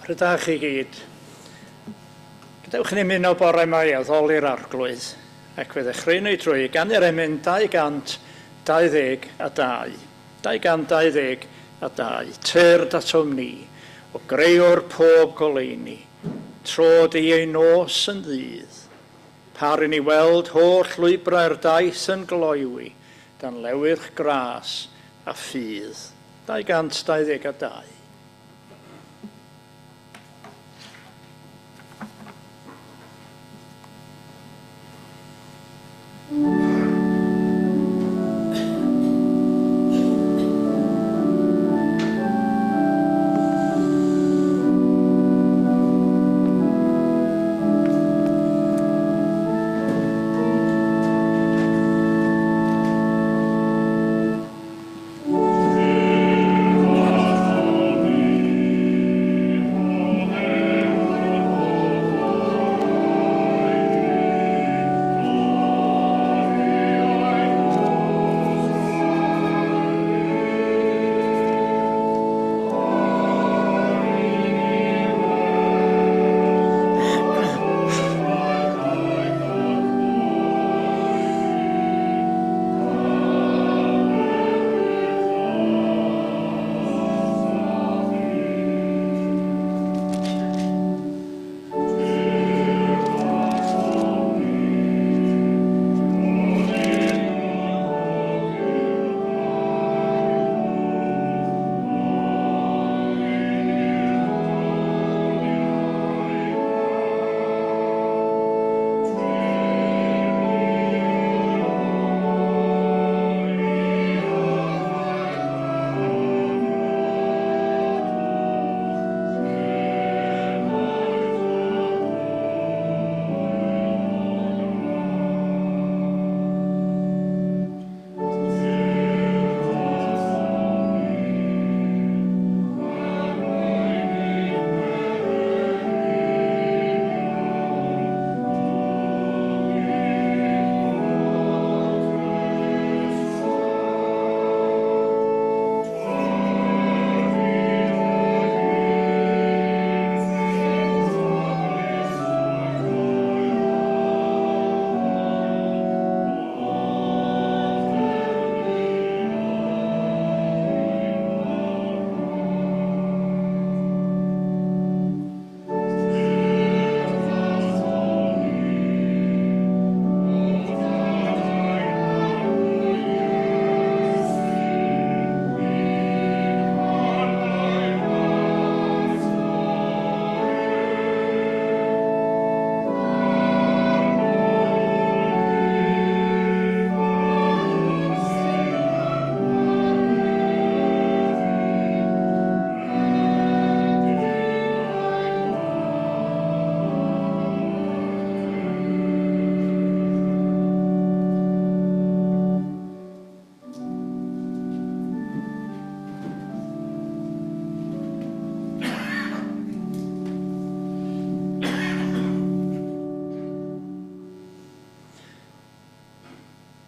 Rydach chi gyd. Gadewch i ni ymuno bore yma i addoli'r Arglwydd, ac fe ddechreuwn ni drwy ganu'r emyn 222. 222. Tyrd atom ni, o greuwr pob goleuni, tro di ei nos yn ddydd. Par i ni weld holl lwybrau'r daith yn gloywi, dan lewyrch gras a ffydd. 222.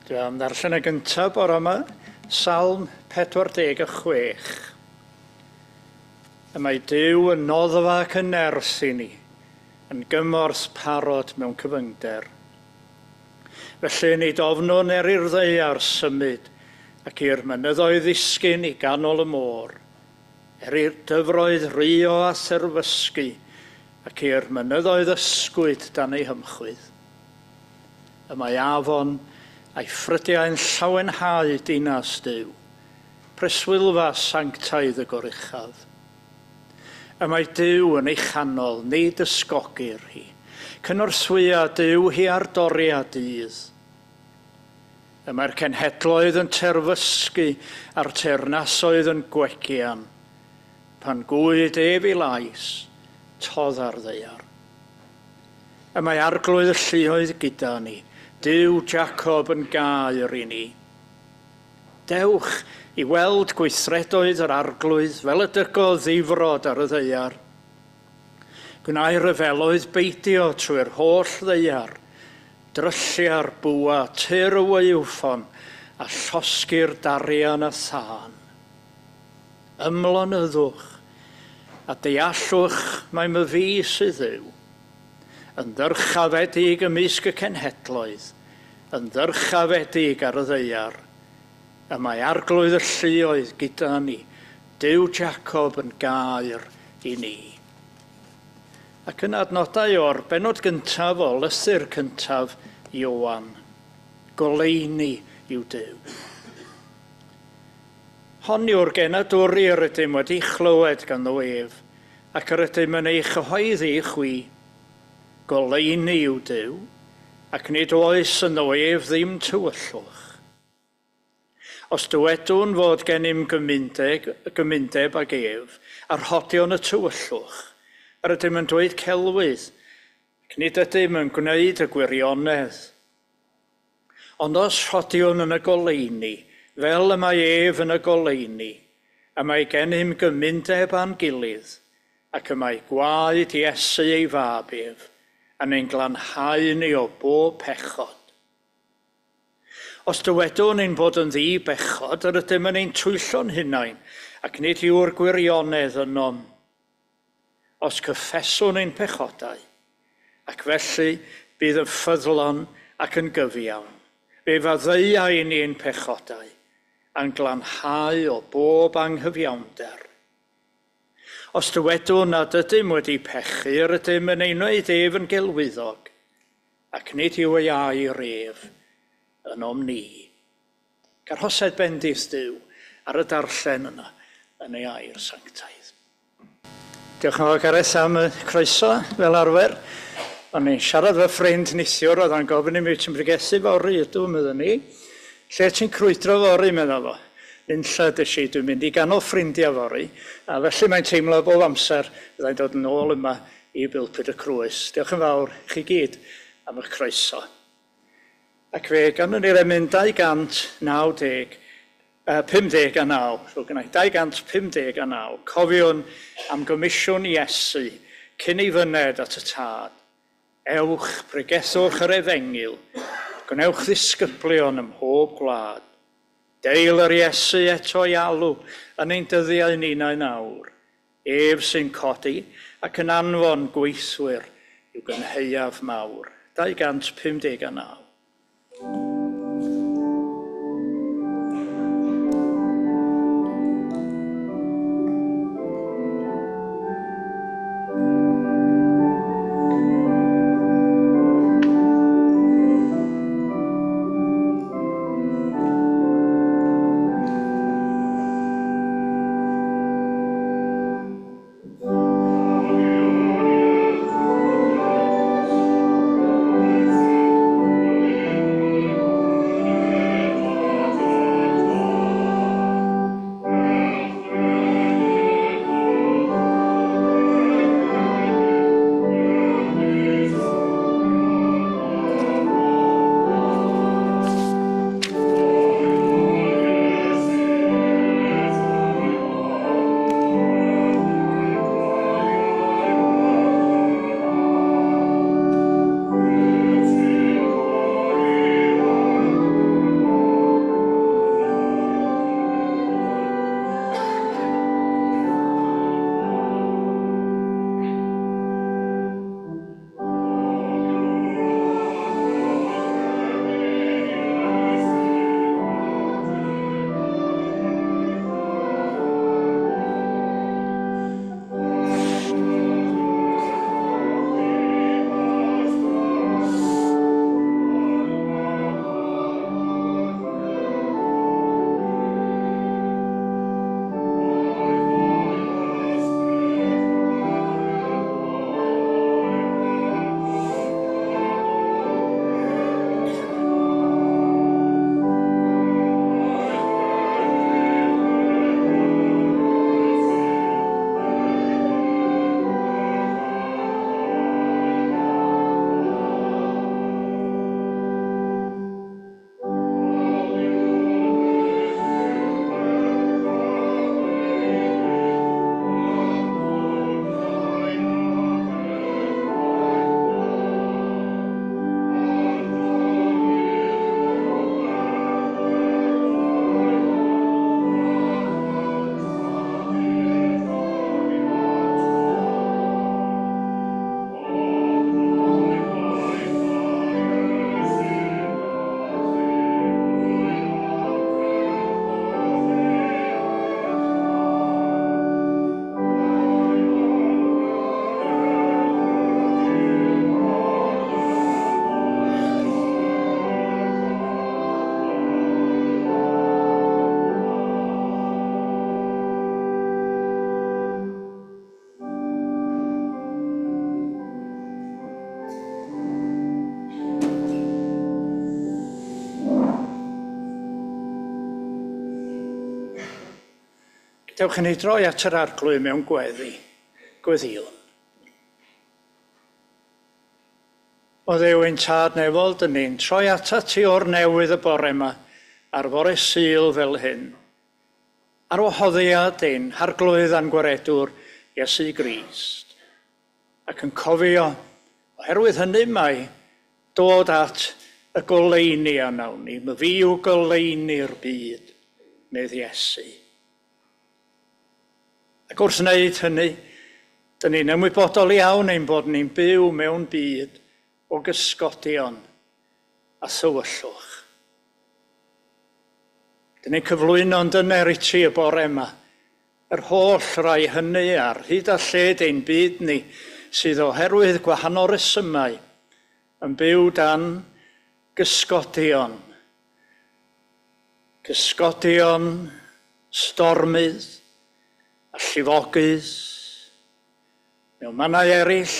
Dwi am ddarllen y gyntaf bore yma, Salm 46. Y mae Duw yn noddfa ac yn nerth i ni, yn gymorth parod mewn cyfyngder. Felly nid ofnwn er i'r ddaear symud ac i'r mynyddoedd ddisgyn i ganol y môr, er i'r dyfroedd rio a therfysgu ac i'r mynyddoedd ysgwyd dan eu hymchwydd. Y mae afon a'i ffrydiau'n llawenhau dinas Duw, preswylfa sanctaidd y Goruchaf. Y mae Duw yn ei chanol, nid ysgogir hi. Cynorthwya Duw hi ar doriad dydd. Y mae'r cenhedloedd yn terfysgu a'r teyrnasoedd yn gwegian. Pan gwyd ef i lais, todd ar ddaear. Y mae Arglwydd y lluoedd gyda ni, Duw Jacob yn gaer i ni. Dewch i weld gweithredoedd yr Arglwydd fel y dygodd ddifrod ar y ddaear. Gwnai ryfeloedd beidio trwy'r holl ddaear, dryllia'r bwa, tir y waywffon, a llosgi'r darian a thân. Ymlonyddwch, a deallwch mai myfi sydd Dduw. Yn ddyrchafedig ymysg y cenhedloedd, yn ddyrchafedig ar y ddaear. Y mae Arglwydd y lluoedd gyda ni, Duw Jacob yn gaer i ni. Ac yn adnodau o'r bennod gyntaf o lythyr cyntaf Ioan, goleuni yw Duw. Hon yw'r genadwri yr ydym wedi chlywed ganddo ef, ac yr ydym yn ei chyhoeddi i chwi. Goleuni yw Duw, ac nid oes ynddo ef ddim tywyllwch. Os dywedwn fod gennym gymundeb ag ef, a rhodion y tywyllwch, yr ydym yn dweud celwydd, ac nid ydym yn gwneud y gwirionedd. Ond os rhodiwn yn y goleuni, fel y mae ef yn y goleuni, y mae gennym gymundeb â'n gilydd, ac y mae gwaed Iesu ei fab ef, yn ein glanhau ni o bob pechod. Os dywedwn ein bod yn ddi-bechod, yr ydym yn ein twyllo'n hunain, ac nid yw'r gwirionedd ynom. Os cyffeswn ein pechodau, ac felly bydd yn ffyddlon ac yn gyfiawn, fe faddeuai ni ein pechodau, a'n glanhau o bob anghyfiawnder. Os dywedwn nad ydym wedi pechu, yr ydym yn ei wneud ef yn gelwyddog, ac nid yw ei air ef ynom ni. Garhosed bendith Duw ar y darllen yna yn ei air sanctaidd. Diolch yn fawr, Gareth, am y croeso, fel arfer. O'n i'n siarad efo ffrind neithiwr, oedd o'n gofyn i mi, ti'n pregethu fory? Ydw, meddwn ni. Lle ti'n crwydro fory, medda fo. Nunlla des i, dwi'n mynd i ganol ffrindiau fory, a felly mae'n teimlo bob amser fyddai'n dod yn ôl yma i Bulpud y Crwys. Diolch yn fawr i chi gyd am eich croeso. Ac fe ganwn ni'r emyn 290, 59, so gynnau 259, cofiwn am gomisiwn Iesu cyn ei fyned at y Tad. Ewch, pregethwch yr efengyl, gwnewch ddisgyblion ym mhob gwlad. Deil yr Iesu eto i alw yn ein dyddiau ninnau nawr. Ef sy'n codi ac yn anfon gweithwyr i'w gynhaeaf mawr. 259. Dewch i ni droi at yr Arglwydd mewn gweddi. Gweddïwn. O Dduw ein Tad nefol, dyn ni'n troi atat ti o'r newydd y bore yma, ar fore Sul fel hyn. Ar wahoddiad ein Harglwydd a'n Gwaredwr, Iesu Grist. Ac yn cofio, oherwydd hynny mai dod at y goleuni a wnawn ni, myfi yw goleuni'r byd, medd Iesu. Ac wrth wneud hynny, dyn ni'n ymwybodol iawn ein bod ni'n byw mewn byd o gysgodion a thywyllwch. Dyn ni'n cyflwyno'n dyner i ti y bore yma, yr holl rai hynny ar hyd a lled ein byd ni sydd oherwydd gwahanol resymau yn byw dan gysgodion. Cysgodion stormydd a llifogydd. Mewn mannau eraill,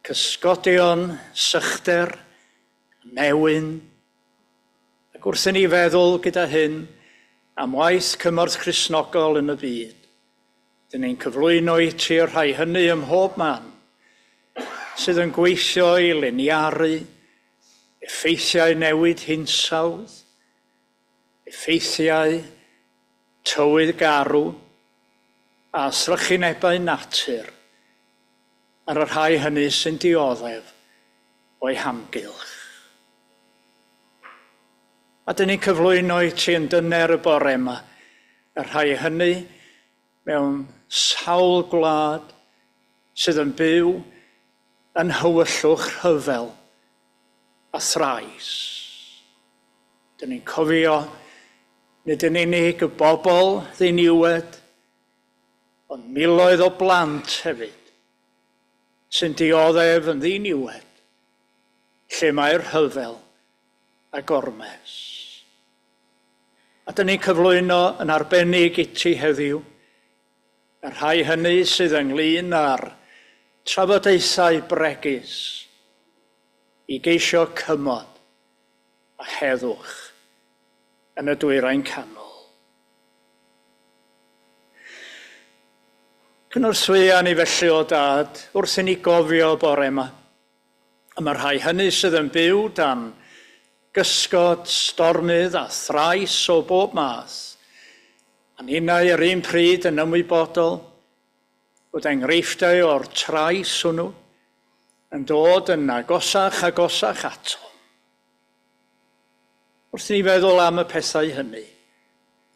cysgodion sychder, newyn. Ac wrth i ni feddwl gyda hyn am waith cymorth Cristnogol yn y byd, dyn ni'n cyflwyno i ti'r rhai hynny ym mhob man sydd yn gweithio i liniaru effeithiau newid hinsawdd, effeithiau tywydd garw a thrychinebau natur ar y rhai hynny sy'n dioddef o'i hamgylch. A dyn ni'n cyflwyno i ti yn dyner y bore yma, y rhai hynny mewn sawl gwlad sydd yn byw yn hywyllwch rhyfel a thrais. Dyn ni'n cofio nid yn unig y bobl ddiniwed, ond miloedd o blant hefyd sy'n dioddef yn ddiniwed, lle mae'r rhyfel a gormes. A dyn ni'n cyflwyno yn arbennig i ti heddiw, y rhai hynny sydd ynglyn â'r trafodaethau bregus i geisio cymod a heddwch yn y Dwyrain Canol. Cynorthwya ni felly o Dad wrth i ni gofio bore yma. A mae'r rhai hynny sydd yn byw dan gysgod, stormydd a thrais o bob math, a ninnau yr un pryd yn ymwybodol bod enghreifftiau o'r trais hwnnw yn dod yn agosach agosach ato. Wrth i ni feddwl am y pethau hynny,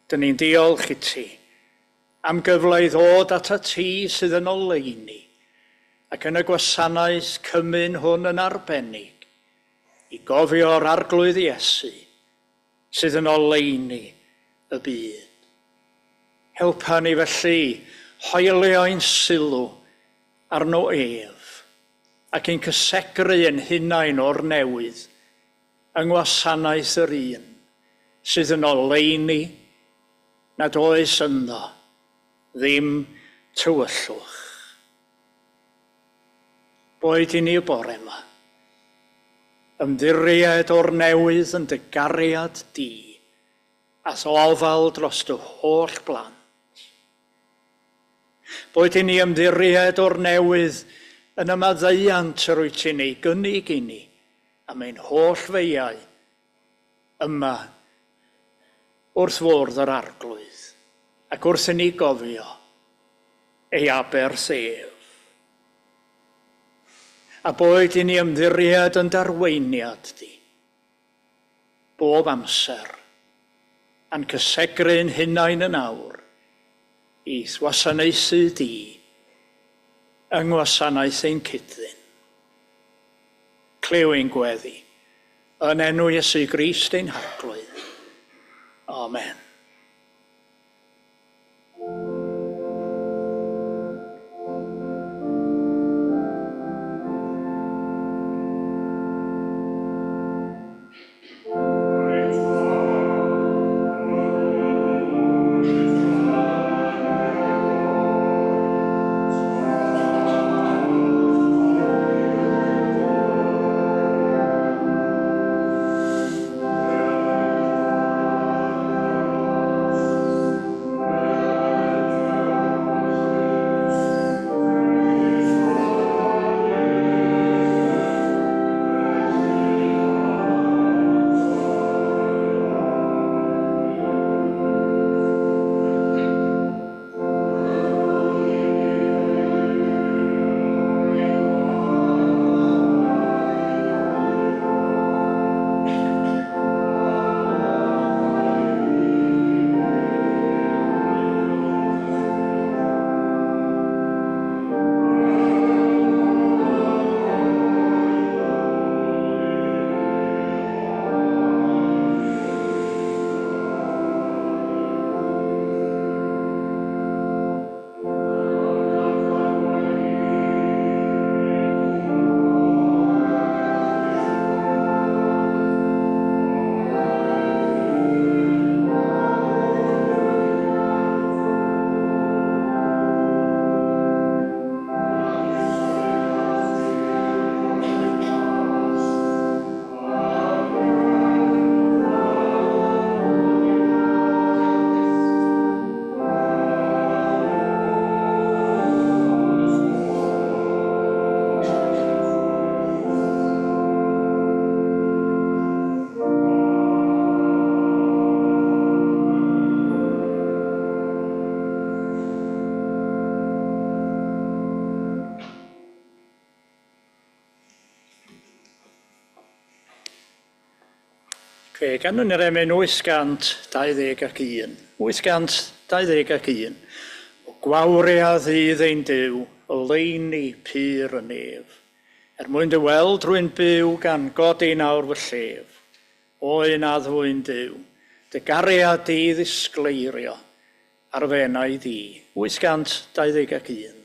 dyn ni'n diolch i ti am gyfle i ddod atat ti sydd yn oleuni ac yn y gwasanaeth cymun hwn yn arbennig i gofio'r Arglwydd Iesu sydd yn oleuni y byd. Helpa ni felly hoelio ein sylw arno ef ac ein cysegru ein hunain o'r newydd yng ngwasanaeth yr un sydd yn oleuni nad oes ynddo ddim tywyllwch. Boed i ni y bore yma, ymddiried o'r newydd yn dy gariad di, a'th ofal dros dy holl blant. Boed i ni ymddiried o'r newydd yn y maddeuant yr wyt ti'n ei gynnig i ni am ein holl feiau yma wrth fwrdd yr Arglwydd ac wrth i ni gofio ei aberth ef. A boed i ni ymddiried yn darweiniad di, bob amser, a'n cysegru'n hunain yn awr, i'th wasanaethu di, yng ngwasanaeth ein cyd-ddyn. Clyw ein gweddi, yn enw Iesu Grist ein Harglwydd. Amen. Fe ganwn ni'r emyn 821. 821. O gwawria ddydd ein Duw, oleuni pur y nef. Er mwyn dy weld rwy'n byw gan godi nawr fy llef. O un addfwyn Duw, dy gariad di ddisgleirio ar fy enaid i. 821.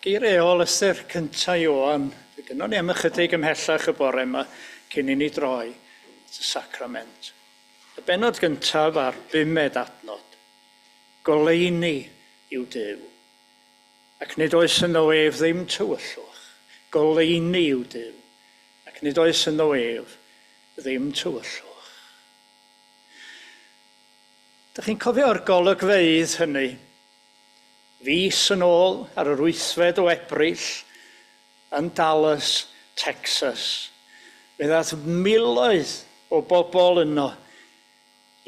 Geiriau ôl ystyr cyntaf Ioan, fe gynnon ni am ychydig ymhellach y bore yma cyn i ni droi at y sacrament. Y bennod gyntaf a'r bumed adnod. Goleuni yw Duw, ac nid oes ynddo ef ddim tywyllwch. Goleuni yw Duw, ac nid oes ynddo ef ddim tywyllwch. Dych chi'n cofio'r golygfeydd hynny? Fis yn ôl ar yr 8fed o Ebrill yn Dallas, Texas. Fe ddaeth miloedd o bobl yno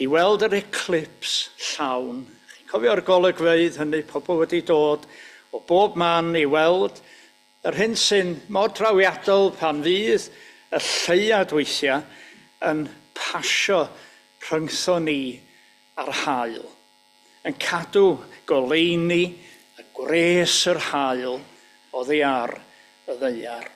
i weld yr eclipse llawn. Chi'n cofio'r golygfeydd hynny, pobl wedi dod o bob man i weld yr hyn sy'n mor drawiadol pan fydd y lleuad weithiau yn pasio rhyngtho ni a'r haul, yn cadw goleuni a gwres yr haul oddi ar y ddaear.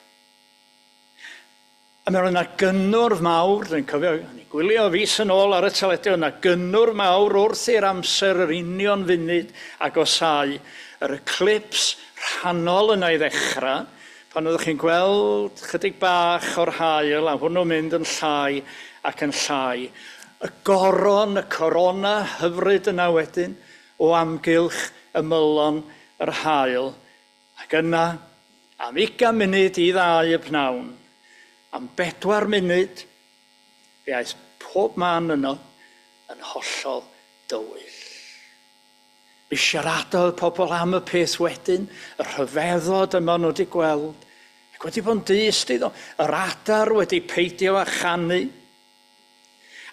A mi oedd yna gynnwrf mawr, dwi'n cofio, o'n i'n gwylio fis yn ôl ar y teledu, oedd yna gynnwrf mawr wrth i'r amser yr union funud agosáu, yr eclipse rhannol yna i ddechrau, pan oeddech chi'n gweld chydig bach o'r haul a hwnnw'n mynd yn llai ac yn llai. Y goron, y corona hyfryd yna wedyn, o amgylch ymylon yr haul. Ac yna, am 20 munud i 2 y pnawn, am 4 munud, fe aeth pob man yno yn hollol dywyll. Mi siaradodd pobl am y peth wedyn, y rhyfeddod yma nhw wedi gweld, ac wedi bod yn dyst iddo, yr adar wedi peidio â chanu,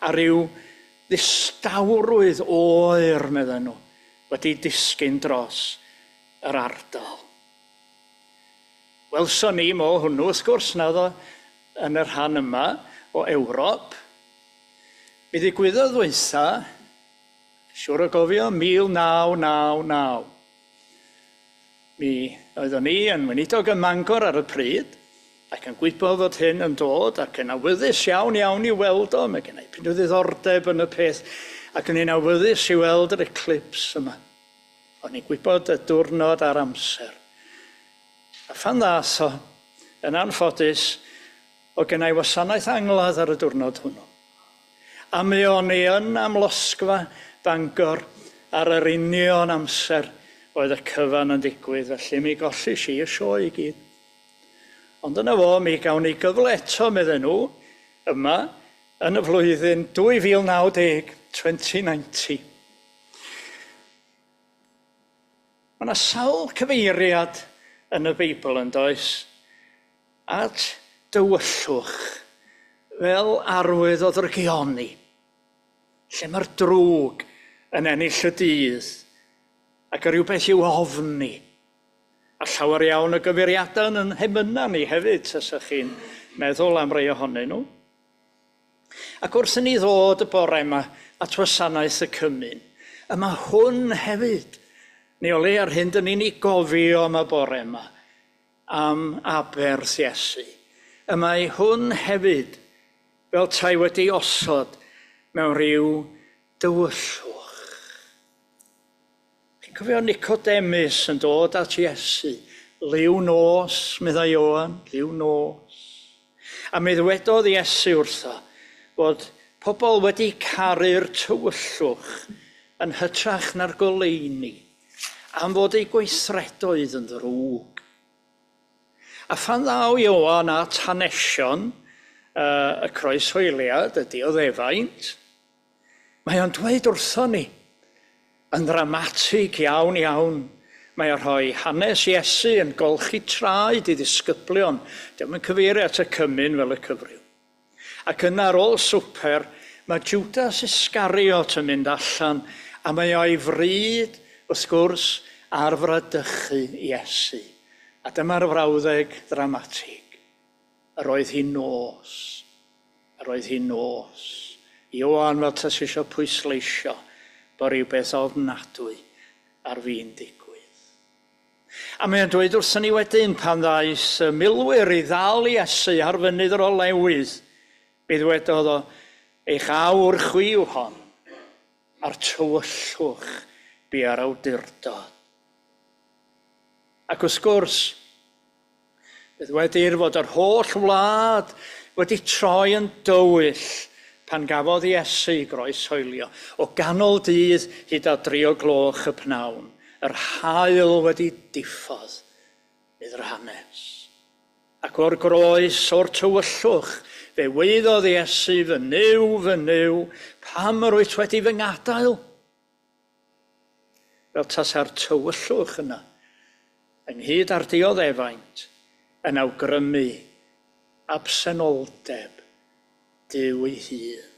a rhyw ddistawrwydd oer, medden nhw, wedi disgyn dros yr ardal. Welson ni mo hwnnw, wrth gwrs, naddo, yn y rhan yma o Ewrop. Mi ddigwyddodd ddwytha, siŵr o gofio, 1999. Mi oeddwn i yn weinidog ym Mangor ar y pryd, ac yn gwybod fod hyn yn dod, ac yn awyddus iawn iawn i weld o. Mae gen i pyn o ddiddordeb yn y peth, ac yn un awyddus i weld yr eclipse yma. O'n i'n gwybod y diwrnod a'r amser. A phan ddath o, yn anffodus, o gen i wasanaeth angladd ar y diwrnod hwnnw. A mi o'n i yn amlosgfa Bangor ar yr union amser oedd y cyfan yn digwydd, felly mi gollish i y sioe i gyd. Ond yna fo, mi gawn ni gyfle eto, medden nhw, yma, yn y flwyddyn 2090, 2090. Mae yna sawl cyfeiriad yn y Beibl yn does, at dywyllwch fel arwydd o ddrygioni, lle mae'r drwg yn ennill y dydd ac yr rhywbeth i'w ofni. A llawer iawn o gyfeiriadau yn hemyna ni hefyd, tasach chi'n meddwl am rai ohonyn nhw. Ac wrth i ni ddod y bore yma at wasanaeth y cymun, y mae hwn hefyd, neu o le ar hyn dyn ni'n ei gofio am y bore yma, am aberth Iesu. Y mae hwn hefyd fel tai wedi osod mewn rhyw dywyllwch. Chi'n cofio Nicodemus yn dod at Iesu, liw nos, meddai Ioan, liw nos. A mi ddywedodd Iesu wrtho fod pobl wedi caru'r tywyllwch yn hytrach na'r goleuni, am fod eu gweithredoedd yn ddrwg. A phan ddaw Ioan at hanesion y croeshoeliad, y dioddefaint, mae o'n dweud wrthon ni, yn ddramatig iawn iawn, mae o'n rhoi hanes Iesu yn golchi traed i ddisgyblion. Dio'm yn cyfeirio at y cymun fel y cyfryw. Ac yna ar ôl swper, mae Judas Iscariot yn mynd allan, a mae o'i fryd, wrth gwrs, ar fradychu Iesu. A dyma'r frawddeg ddramatig. Yr oedd hi'n nos. Yr oedd hi'n nos. Ioan fel tas eisiau pwysleisio bod rhywbeth ofnadwy ar fin digwydd. A mae'n dweud wrthon ni wedyn pan ddaeth y milwyr i ddal Iesu ar fynydd yr olewydd, mi ddwedodd o, eich awr chwi yw hon, a'r tywyllwch bu ar awdurdod. Ac wrth gwrs, fe ddwedir fod yr holl wlad wedi troi yn dywyll pan gafodd Iesu ei groeshoelio, o ganol dydd hyd at 3 o gloch y pnawn, yr haul wedi diffodd iddo'r hanes. Ac o'r groes, o'r tywyllwch, fe weiddodd Iesu, fy Nuw, fy Nuw, pam yr wyt wedi fy ngadael? Fel tasa'r tywyllwch yna, ynghyd â'r dioddefaint, yn awgrymu absenoldeb Duw ei hun.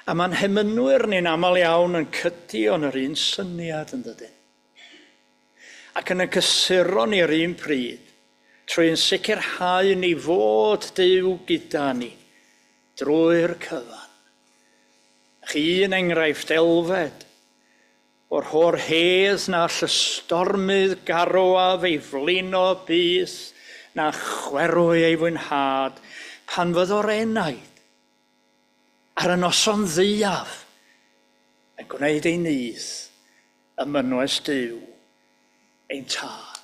A mae'n hemynwyr ni'n aml iawn yn cydio yn yr un syniad yn dydyn. Ac yn y cysuro ni'r un pryd, trwy'n sicrhau ni fod Duw gyda ni drwy'r cyfan. Chi un enghraifft Elfed o'r ho'r hedd na all y stormydd garw a feiflino byth, na chwerw ei fwynhad pan fyddo'r enaid ar y noson ddiaf yn gwneud ei nyth ym mynwes Duw ein tad.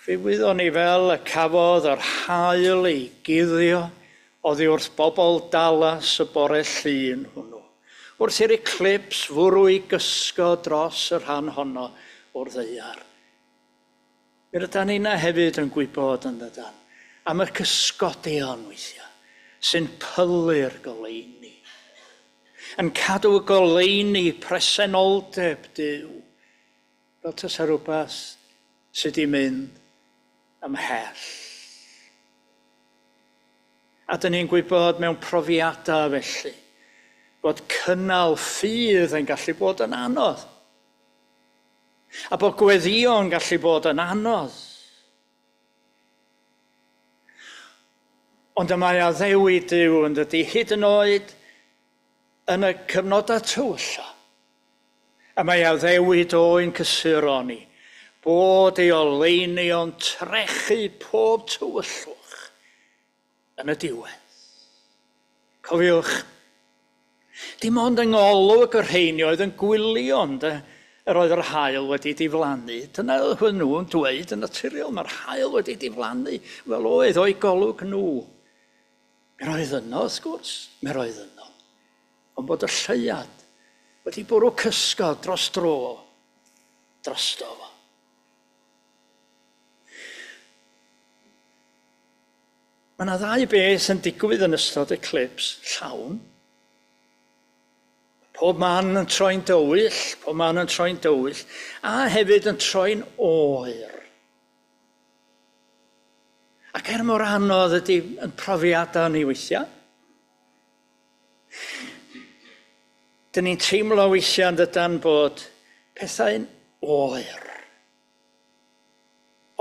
Fe wyddon ni fel y cafodd yr haul ei guddio oddi wrth bobl Dallas y bore Llun hwnnw, wrth i'r eclips fwrw ei gysgo dros y rhan honno o'r ddaear. Mi rydan ni'na hefyd yn gwybod yn dydan, am y cysgodion weithiau sy'n pylu'r goleuni, yn cadw y goleuni presenoldeb Duw, fel tasa rhywbeth sydd wedi mynd ymhell. A dyn ni'n gwybod mewn profiadau felly, bod cynnal ffydd yn gallu bod yn anodd. A bod gweddïo yn gallu bod yn anodd. Ond y mae addewid Duw yn dydy, hyd yn oed yn y cyfnodau tywylla. A mae addewid o'n cysuro ni, bod ei oleuni o'n trechu pob tywyllwch yn y diwedd. Cofiwch, dim ond yng ngolwg y rheini oedd yn gwylio ynde, yr oedd yr haul wedi diflannu. Dyna oedd nhw'n dweud yn naturiol, mae'r haul wedi diflannu, fel oedd o'i golwg nhw. Mi roedd yno, wrth gwrs, mi roedd yno. Ond bod y lleuad wedi bwrw cysgod dros dro, drosto fo. Mae yna ddau beth yn digwydd yn ystod eclips llawn. Pob man yn troi'n dywyll, pob man yn troi'n dywyll, a hefyd yn troi'n oer. Ac er mor anodd ydy yn profiadau ni weithiau, dyn ni'n teimlo weithiau yn dydan bod pethau'n oer.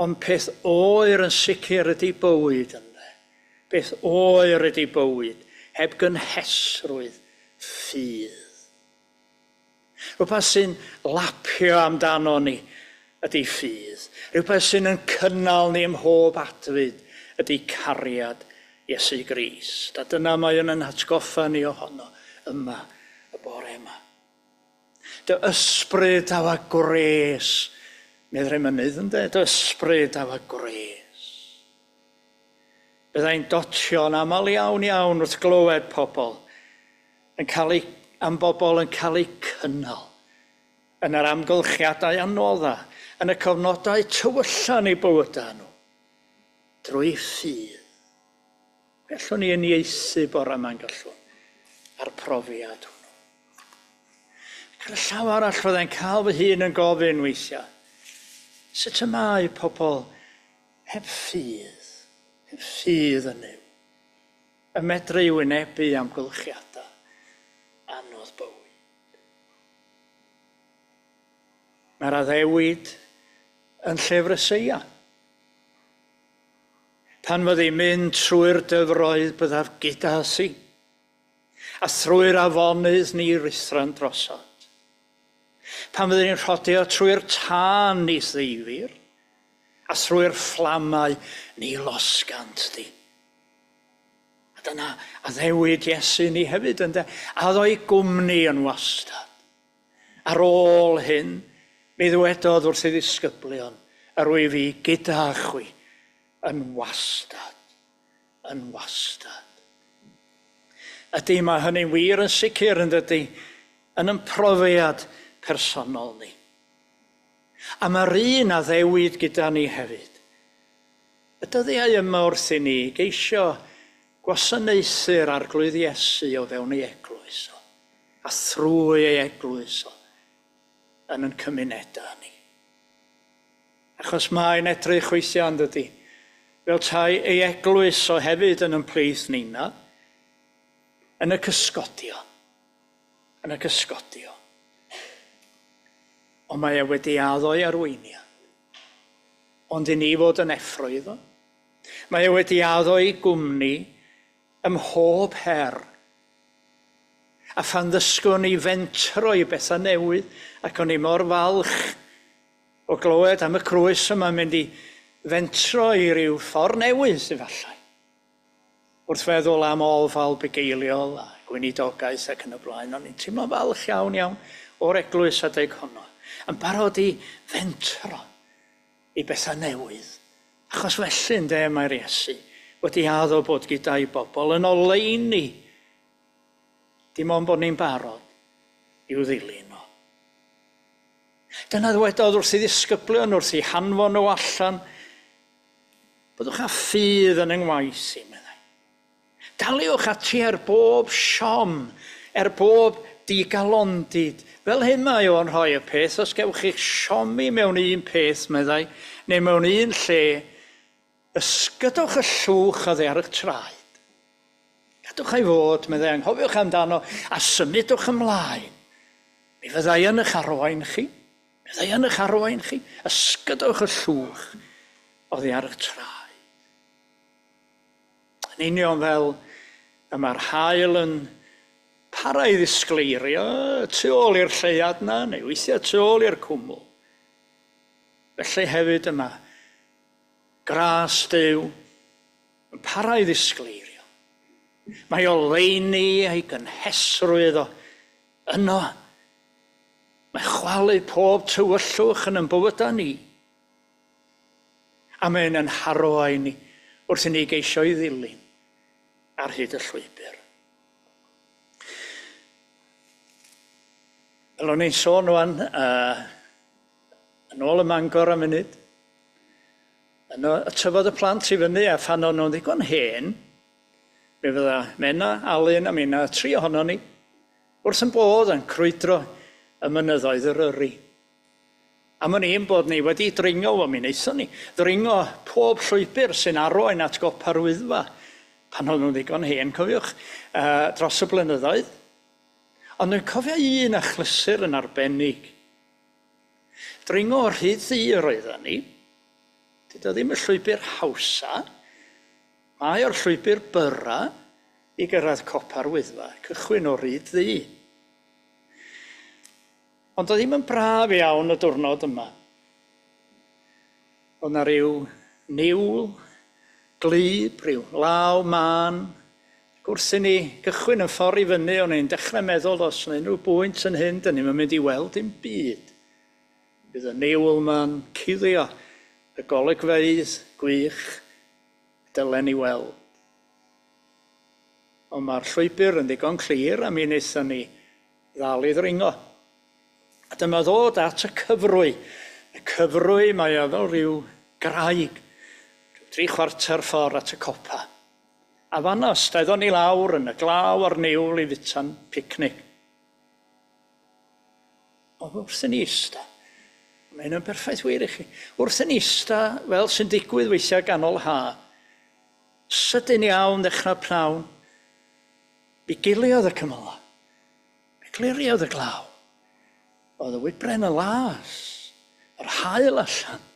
Ond peth oer yn sicr ydy bywyd ynddo. Beth oer ydy bywyd, heb gynhesrwydd ffydd. Rhywbeth sy'n lapio amdano ni ydy ffydd. Rhywbeth sy'n yn cynnal ni ym mhob adfyd ydy cariad Iesu Grist. A dyna mae yn yn hatgoffa ni ohono yma y bore yma. Dy ysbryd aw a gwres, meddai'r emynydd ynde, dy ysbryd aw a gwres. Byddai'n dotio'n aml iawn iawn wrth glywed pobl yn cael eu, am bobl yn cael eu cynnal yn yr amgylchiadau anodda, yn y cyfnodau tywylla yn eu bywydau nhw, drwy ffydd. Gallwn ni uniaethu bore yma'n gallwn a'r profiad hwnnw. Ac ar y llaw arall fyddai'n cael fy hun yn gofyn weithiau, sut y mae pobl heb ffydd, heb ffydd yn Nuw, yn medru wynebu amgylchiadau anodd bywyd. Mae'r addewid yn llyfr Eseia. Pan fyddi'n mynd trwy'r dyfroedd byddaf gyda thi, a thrwy'r afonydd ni ruthran drosod. Pan fyddi'n rhodio trwy'r tân ni ddeifir, a thrwy'r fflamau ni losgant di. A dyna addewid Iesu ni hefyd ynde, a ddo'i gwmni yn wastad. Ar ôl hyn, mi ddywedodd wrth ei ddisgyblion, yr wyf fi gyda chwi yn wastad, yn wastad. Ydy, mae hynny'n wir yn sicr yn dydy, yn yn profiad personol ni. A mae'r un addewid gyda ni hefyd. Y dyddiau yma wrth i ni geisio gwasanaethu'r Arglwydd Iesu o fewn ei eglwys o, a thrwy ei eglwys o, yn yn cymunedau ni. Achos mae'n edrych weithiau yn dydy, fel tai ei eglwys o hefyd yn yn plith nina, yn y cysgodion. Yn y cysgodion. Ond mae e wedi addo ei arweiniad. Ond i ni fod yn effro iddo. Mae e wedi addo ei gwmni ym mhob her. A phan ddysgwn ni fentro i bethau newydd, ac o'n i mor falch O glywed am y crwys yma'n mynd i fentro i ryw ffordd newydd efallai. Wrth feddwl am ofal bugeiliol a gweinidogaeth ac yn y blaen, o'n i'n teimlo falch iawn iawn o'r eglwys adeg honno. Yn barod i fentro i bethau newydd. Achos felly ynde mae'r Iesu wedi addo bod gyda'i bobl yn oleuni. Dim ond bod ni'n barod i'w ddilyn o. Dyna ddwedodd wrth ei ddisgyblion, wrth ei hanfon nhw allan, byddwch â ffydd yn yng ngwaith i, meddai. Daliwch ati er bob siom, er bob digalondid. Fel hyn mae o'n rhoi y peth, os gewch chi'ch siomi mewn un peth, meddai, neu mewn un lle, ysgydwch y llwch oddi ar eich traed. Gadwch ei fod, meddai, anghofiwch amdano, a symudwch ymlaen. Mi fyddai yn eich arwain chi. Mi fyddai yn eich arwain chi. Ysgydwch y llwch oddi ar eich traed. Yn union fel y mae'r haul yn para i ddisgleirio tu ôl i'r lleuad na, neu weithiau tu ôl i'r cwmwl. Felly hefyd yma, gras Duw yn para i ddisgleirio. Mae oleuni a'i gynhesrwydd o yno. Mae chwalu pob tywyllwch yn ein bywydau ni. A mae'n yn harwain ni wrth i ni geisio i ddilyn ar hyd y llwybr. Fel o'n i'n sôn rwan, yn ôl y Mangor am munud, yno y tyfodd y plant i fyny a phan o'n nhw'n ddigon hen, mi fydda Menna, Alun a Minna, tri ohonon ni, wrth yn bodd yn crwydro y mynyddoedd Eryri. Am o'n i'n bod ni wedi dringo, wel mi wnaethon ni, ddringo pob llwybr sy'n arwain at gopa'r Wyddfa, pan o'n nhw'n ddigon hen, cofiwch, dros y blynyddoedd. Ond dwi'n cofio un achlysur yn arbennig. Dringo o'r rhyd ddu yr oedden ni. Dydy o ddim y llwybr hawsa. Mae o'r llwybr byra i gyrraedd copa'r Wyddfa, cychwyn o'r rhyd ddu. Ond oedd ddim yn braf iawn y diwrnod yma. Oedd na ryw niwl, gwlyb, rhyw law mân. Ac wrth i ni gychwyn yn ffordd i fyny, o'n i'n dechrau meddwl os yna unrhyw bwynt yn hyn, dyn ni'm yn mynd i weld dim byd. Bydd y niwl ma'n cuddio y golygfeydd gwych dylen ni weld. Ond mae'r llwybr yn ddigon clir a mi wnaethon ni ddal i ddringo. A dyma ddod at y cyfrwy. Y cyfrwy mae o fel rhyw graig, rhyw 3/4 ffordd at y copa. A fanno, steddon ni lawr yn y glaw a'r niwl i fita'n picnic. Ond wrth i ni ista, mae hyn yn berffaith wir i chi, wrth i ni ista, fel sy'n digwydd weithiau ganol ha, sydyn iawn ddechrau pnawn, mi giliodd y cymylau, mi gliriodd y glaw. Oedd y wybren yn las, yr haul allan,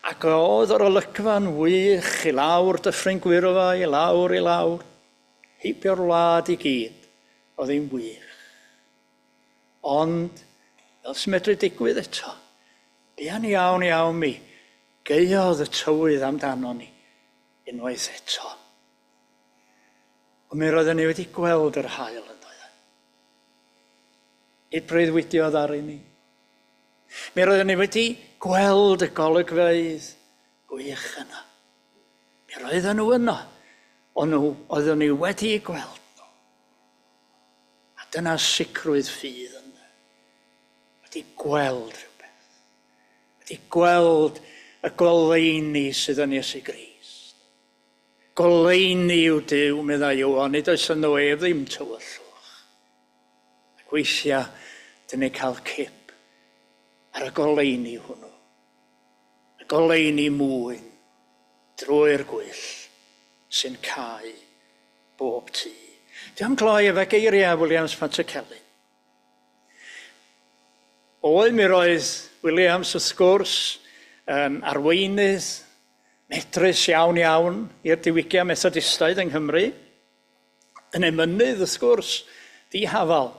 ac oedd yr olygfa'n wych i lawr Dyffryn Gwyrfai, i lawr, i lawr, heibio'r wlad i gyd, oedd hi'n wych. Ond, fel sy'n medru digwydd eto, buan iawn iawn mi gaeodd y tywydd amdano ni unwaith eto. Ond mi roedden ni wedi gweld yr haul yn doedden. Nid breuddwydiodd ar i ni. Mi roedden ni wedi gweld y golygfeydd gwych yna. Mi roedden nhw yno, ond nhw oedden ni wedi eu gweld nhw. A dyna sicrwydd ffydd yna. Wedi gweld rhywbeth. Wedi gweld y goleuni sydd yn Iesu Grist. Goleuni yw Duw, meddai Ioan, nid oes ynddo ef ddim tywyllwch. Ac weithiau, dyn ni'n cael cip ar y goleuni hwnnw. Y goleuni mwyn drwy'r gwyll sy'n cau bob tŷ. Dwi am gloi efo geiriau Williams Pantycelyn. Oedd mi roedd Williams wrth gwrs yn arweinydd medrus iawn iawn i'r diwygiad Methodistaidd yng Nghymru, yn emynydd wrth gwrs, dihafal.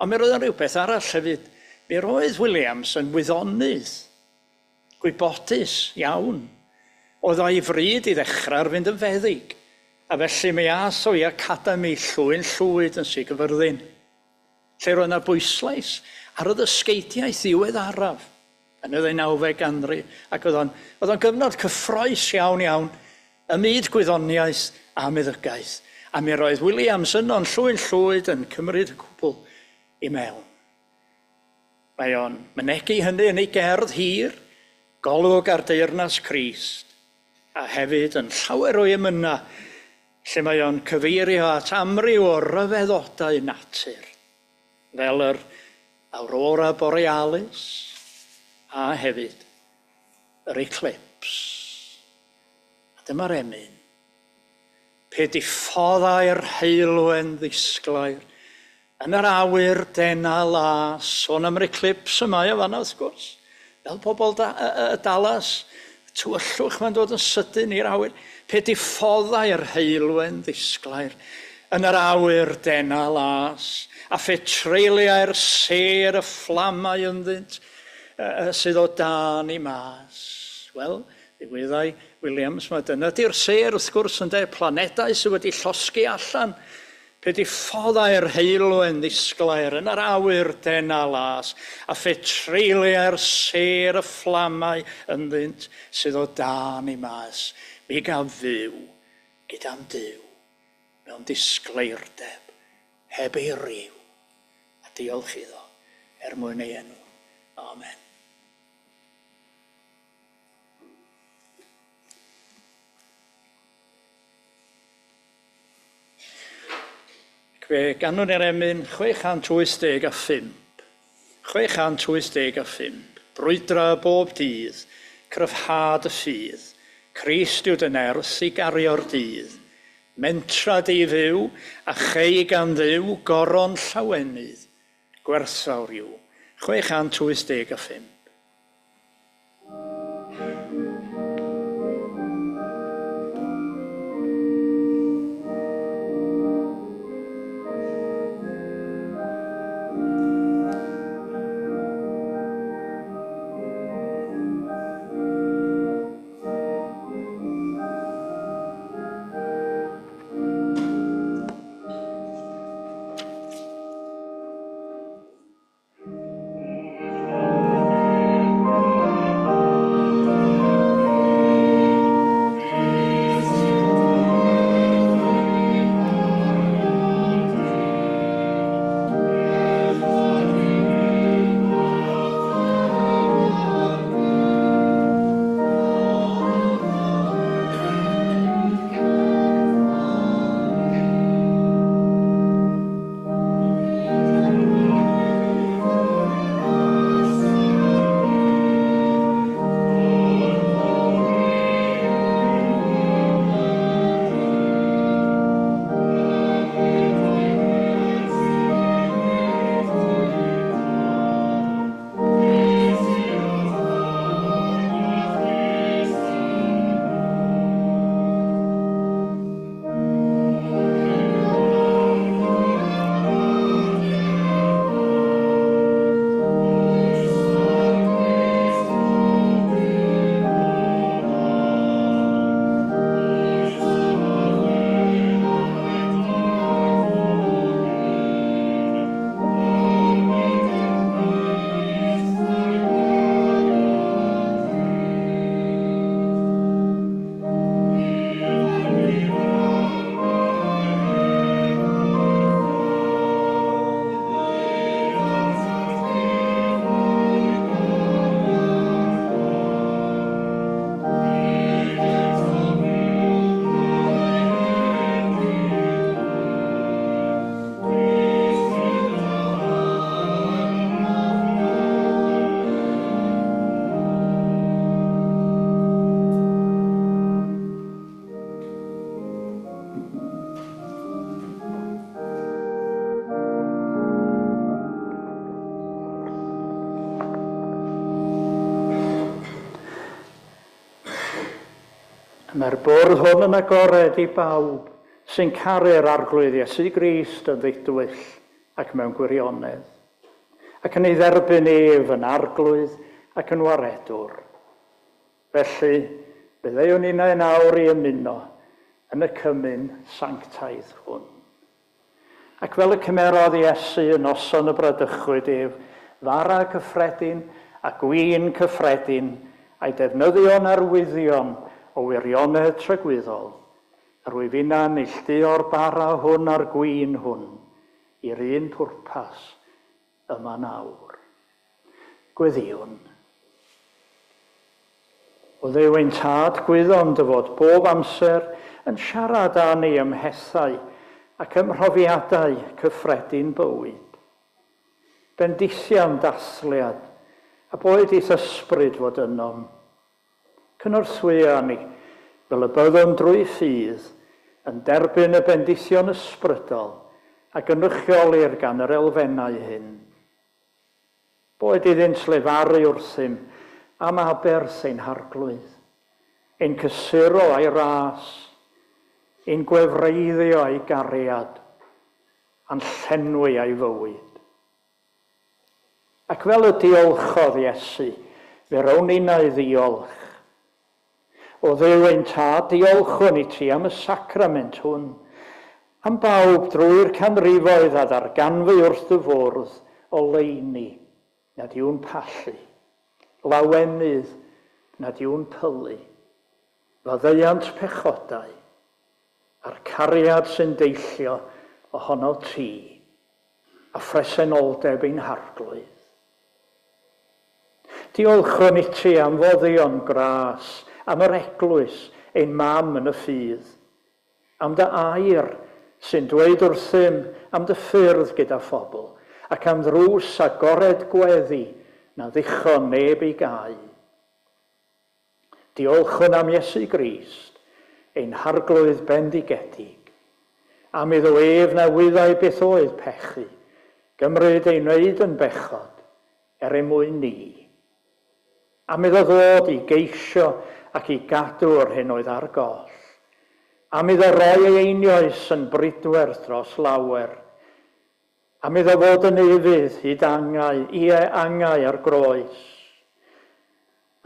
Ond mi roedd yn rhywbeth arall hefyd. Mi roedd Williams yn wyddonydd. gwybodus iawn. Oedd o'i fryd i ddechrau ar fynd yn feddyg, a felly mi ath o i Academi Llwyn Llwyd yn Sir Gyfyrddin, lle roedd yna bwyslais ar y ddysgeidiaeth ddiweddaraf yn y ddeunawfed ganrif, ac oedd o'n gyfnod cyffrous iawn iawn ym myd gwyddoniaeth a meddygaeth. A mi roedd Williams yno'n Llwyn Llwyd yn cymryd y cwbl i mewn. Mae o'n mynegi hynny yn ei gerdd hir, Golwg ar Deyrnas Crist, a hefyd yn llawer o'i emynau, lle mae o'n cyfeirio at amryw o ryfeddodau natur, fel yr Aurora Borealis, a hefyd yr eclipse. A dyma'r emyn. Pe diffoddai'r heulwen ddisglair, yn yr awyr dena las, sôn am yr eclipse yma o fanna wrth gwrs, fel pobl y Dallas, tywyllwch mae'n dod yn sydyn i'r awyr. Pe diffoddai'r heulwen ddisglair, yn yr awyr dena las, a phe treuliau'r sêr y fflamau ynddynt, sydd o dan i mas. Wel, ddiweddai Williams, mae dyna di'r sêr wrth gwrs ynde, planedau sydd wedi llosgi allan. Pe diffoddai'r heulwen ddisglair yn yr awyr dena las, a phe treuliau'r sêr y fflamau ynddynt sydd o dan i mas, mi gaf fyw gyda'n Duw mewn disgleirdeb heb ei ryw. A diolch iddo er mwyn ei enw. Amen. Ac fe ganwn ni'r emyn 685. 685. Brwydra bob dydd, cryfhad y ffydd. Crist yw dy nerth i gario'r dydd. Mentra di fyw, a chei gan Dduw goron llawenydd. Gwerthfawr yw. 685. Mae'r bwrdd hwn yn agored i bawb sy'n caru'r Arglwydd Iesu Grist yn ddidwyll ac mewn gwirionedd, ac yn ei dderbyn ef yn Arglwydd ac yn Waredwr. Felly, fe ddeuwn ninnau yn awr i ymuno yn y cymun sanctaidd hwn. Ac fel y cymerodd Iesu y noson y bradychwyd ef, fara cyffredin a gwin cyffredin, a'i defnyddio'n arwyddion o wirionedd tragwyddol, yr wyf inna'n neilltuo'r bara hwn a'r gwin hwn i'r un pwrpas yma nawr. Gweddïwn. O Dduw ein Tad, gwyddom dy fod bob amser yn siarad â ni ym mhethau ac ym mhrofiadau cyffredin bywyd. Bendithiam dathliad, a boed i'th ysbryd fod ynom. Cynorthwya ni, fel y byddwn drwy ffydd, yn derbyn y bendithion ysbrydol a gynrychiolir gan yr elfennau hyn. Boed iddynt lefaru wrthym am aberth ein Harglwydd, ein cysuro a'i ras, ein gwefreiddio a'i gariad, a'n llenwi a'i fywyd. Ac fel y diolchodd Iesu, fe rown ninnau ddiolch. O Dduw ein Tad, diolchwn i ti am y sacrament hwn, am bawb drwy'r canrifoedd a ddarganfu wrth dy fwrdd oleuni nad yw'n pallu, lawenydd nad yw'n pylu, faddeuant pechodau, a'r cariad sy'n deillio ohono ti, a phresenoldeb ein Harglwydd. Diolchwn i ti am foddion gras, am yr eglwys, ein mam yn y ffydd, am dy air sy'n dweud wrthym am dy ffyrdd gyda phobl, ac am ddrws agored gweddi na ddichon neb ei gau. Diolchwn am Iesu Grist, ein Harglwydd bendigedig, am iddo ef na wyddai beth oedd pechu, gymryd ei wneud yn bechod er ei mwyn ni. Am iddo ddod i geisio ac i gadw yr hyn oedd ar goll. Am iddo roi ei einioes yn bridwerth dros lawer. Am iddo fod yn ufudd hyd angau, ie angau ar groes.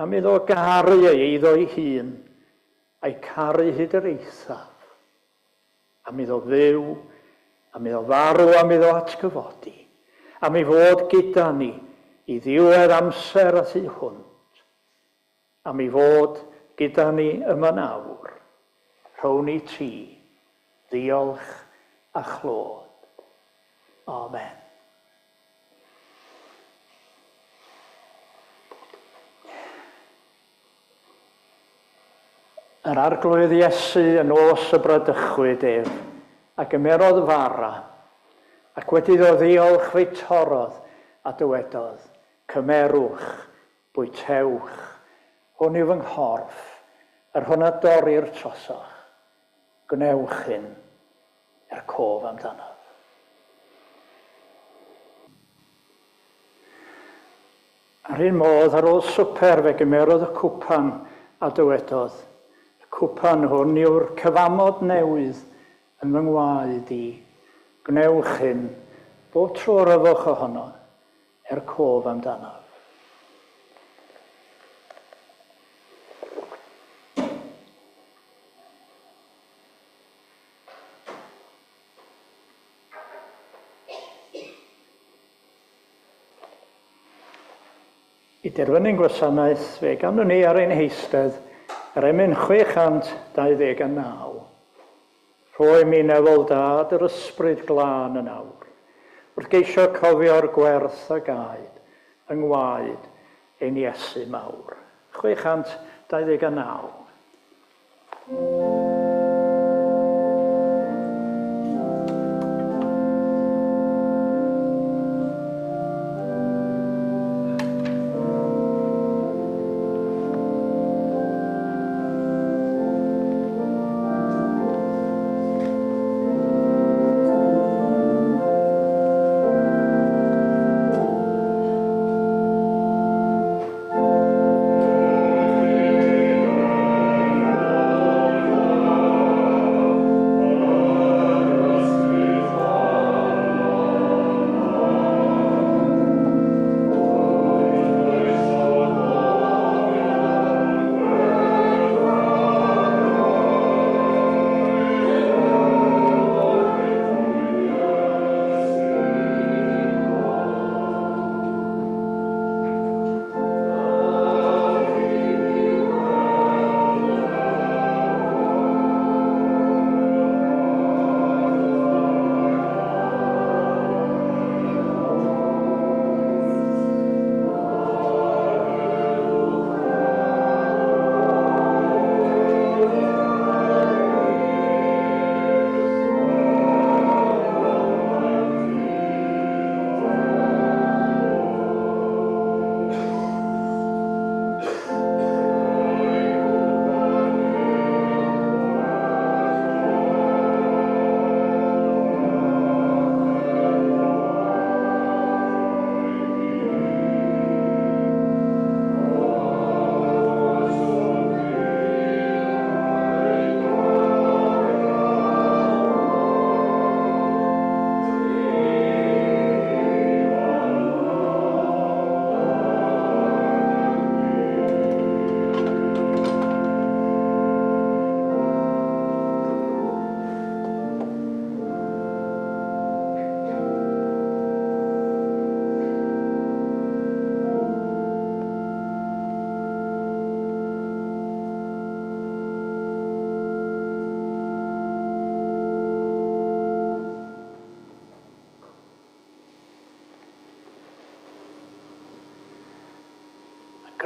Am iddo garu ei eiddo ei hun, a'i caru hyd yr eithaf. Am iddo fyw, am iddo farw, am iddo atgyfodi. Am ei fod gyda ni i ddiwedd amser a thu hwnt. Am ei fod gyda ni yma nawr. Rhown i ti ddiolch a chlod. Amen. Yr Arglwydd Iesu yn nos y bradychwyd ef, a gymerodd fara, ac wedi iddo ddiolch fe'i torrodd a dywedodd, cymerwch, bwytewch, hwn yw fy nghorff, yr hwn a dorrir trosoch. Gwnewch hyn er cof amdanaf. Ar un modd, ar ôl swper, fe gymerodd y cwpan a dywedodd, y cwpan hwn yw'r cyfamod newydd yn fy ngwaed i. Gwnewch hyn, bob tro yr yfwch ohono, er cof amdanaf. I derfynu'n gwasanaeth, fe ganwn ni ar ein heistedd yr emyn 629. Rhoi mi nefol dad yr ysbryd glân yn awr, wrth geisio cofio'r gwerth a gaed yng ngwaed ein Iesu mawr. 629.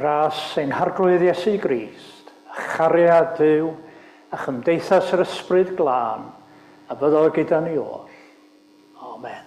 Gras ein Harglwydd Iesu Grist, a chariad Duw, a chymdeithas yr Ysbryd Glân, a fyddo gyda ni oll. Amen.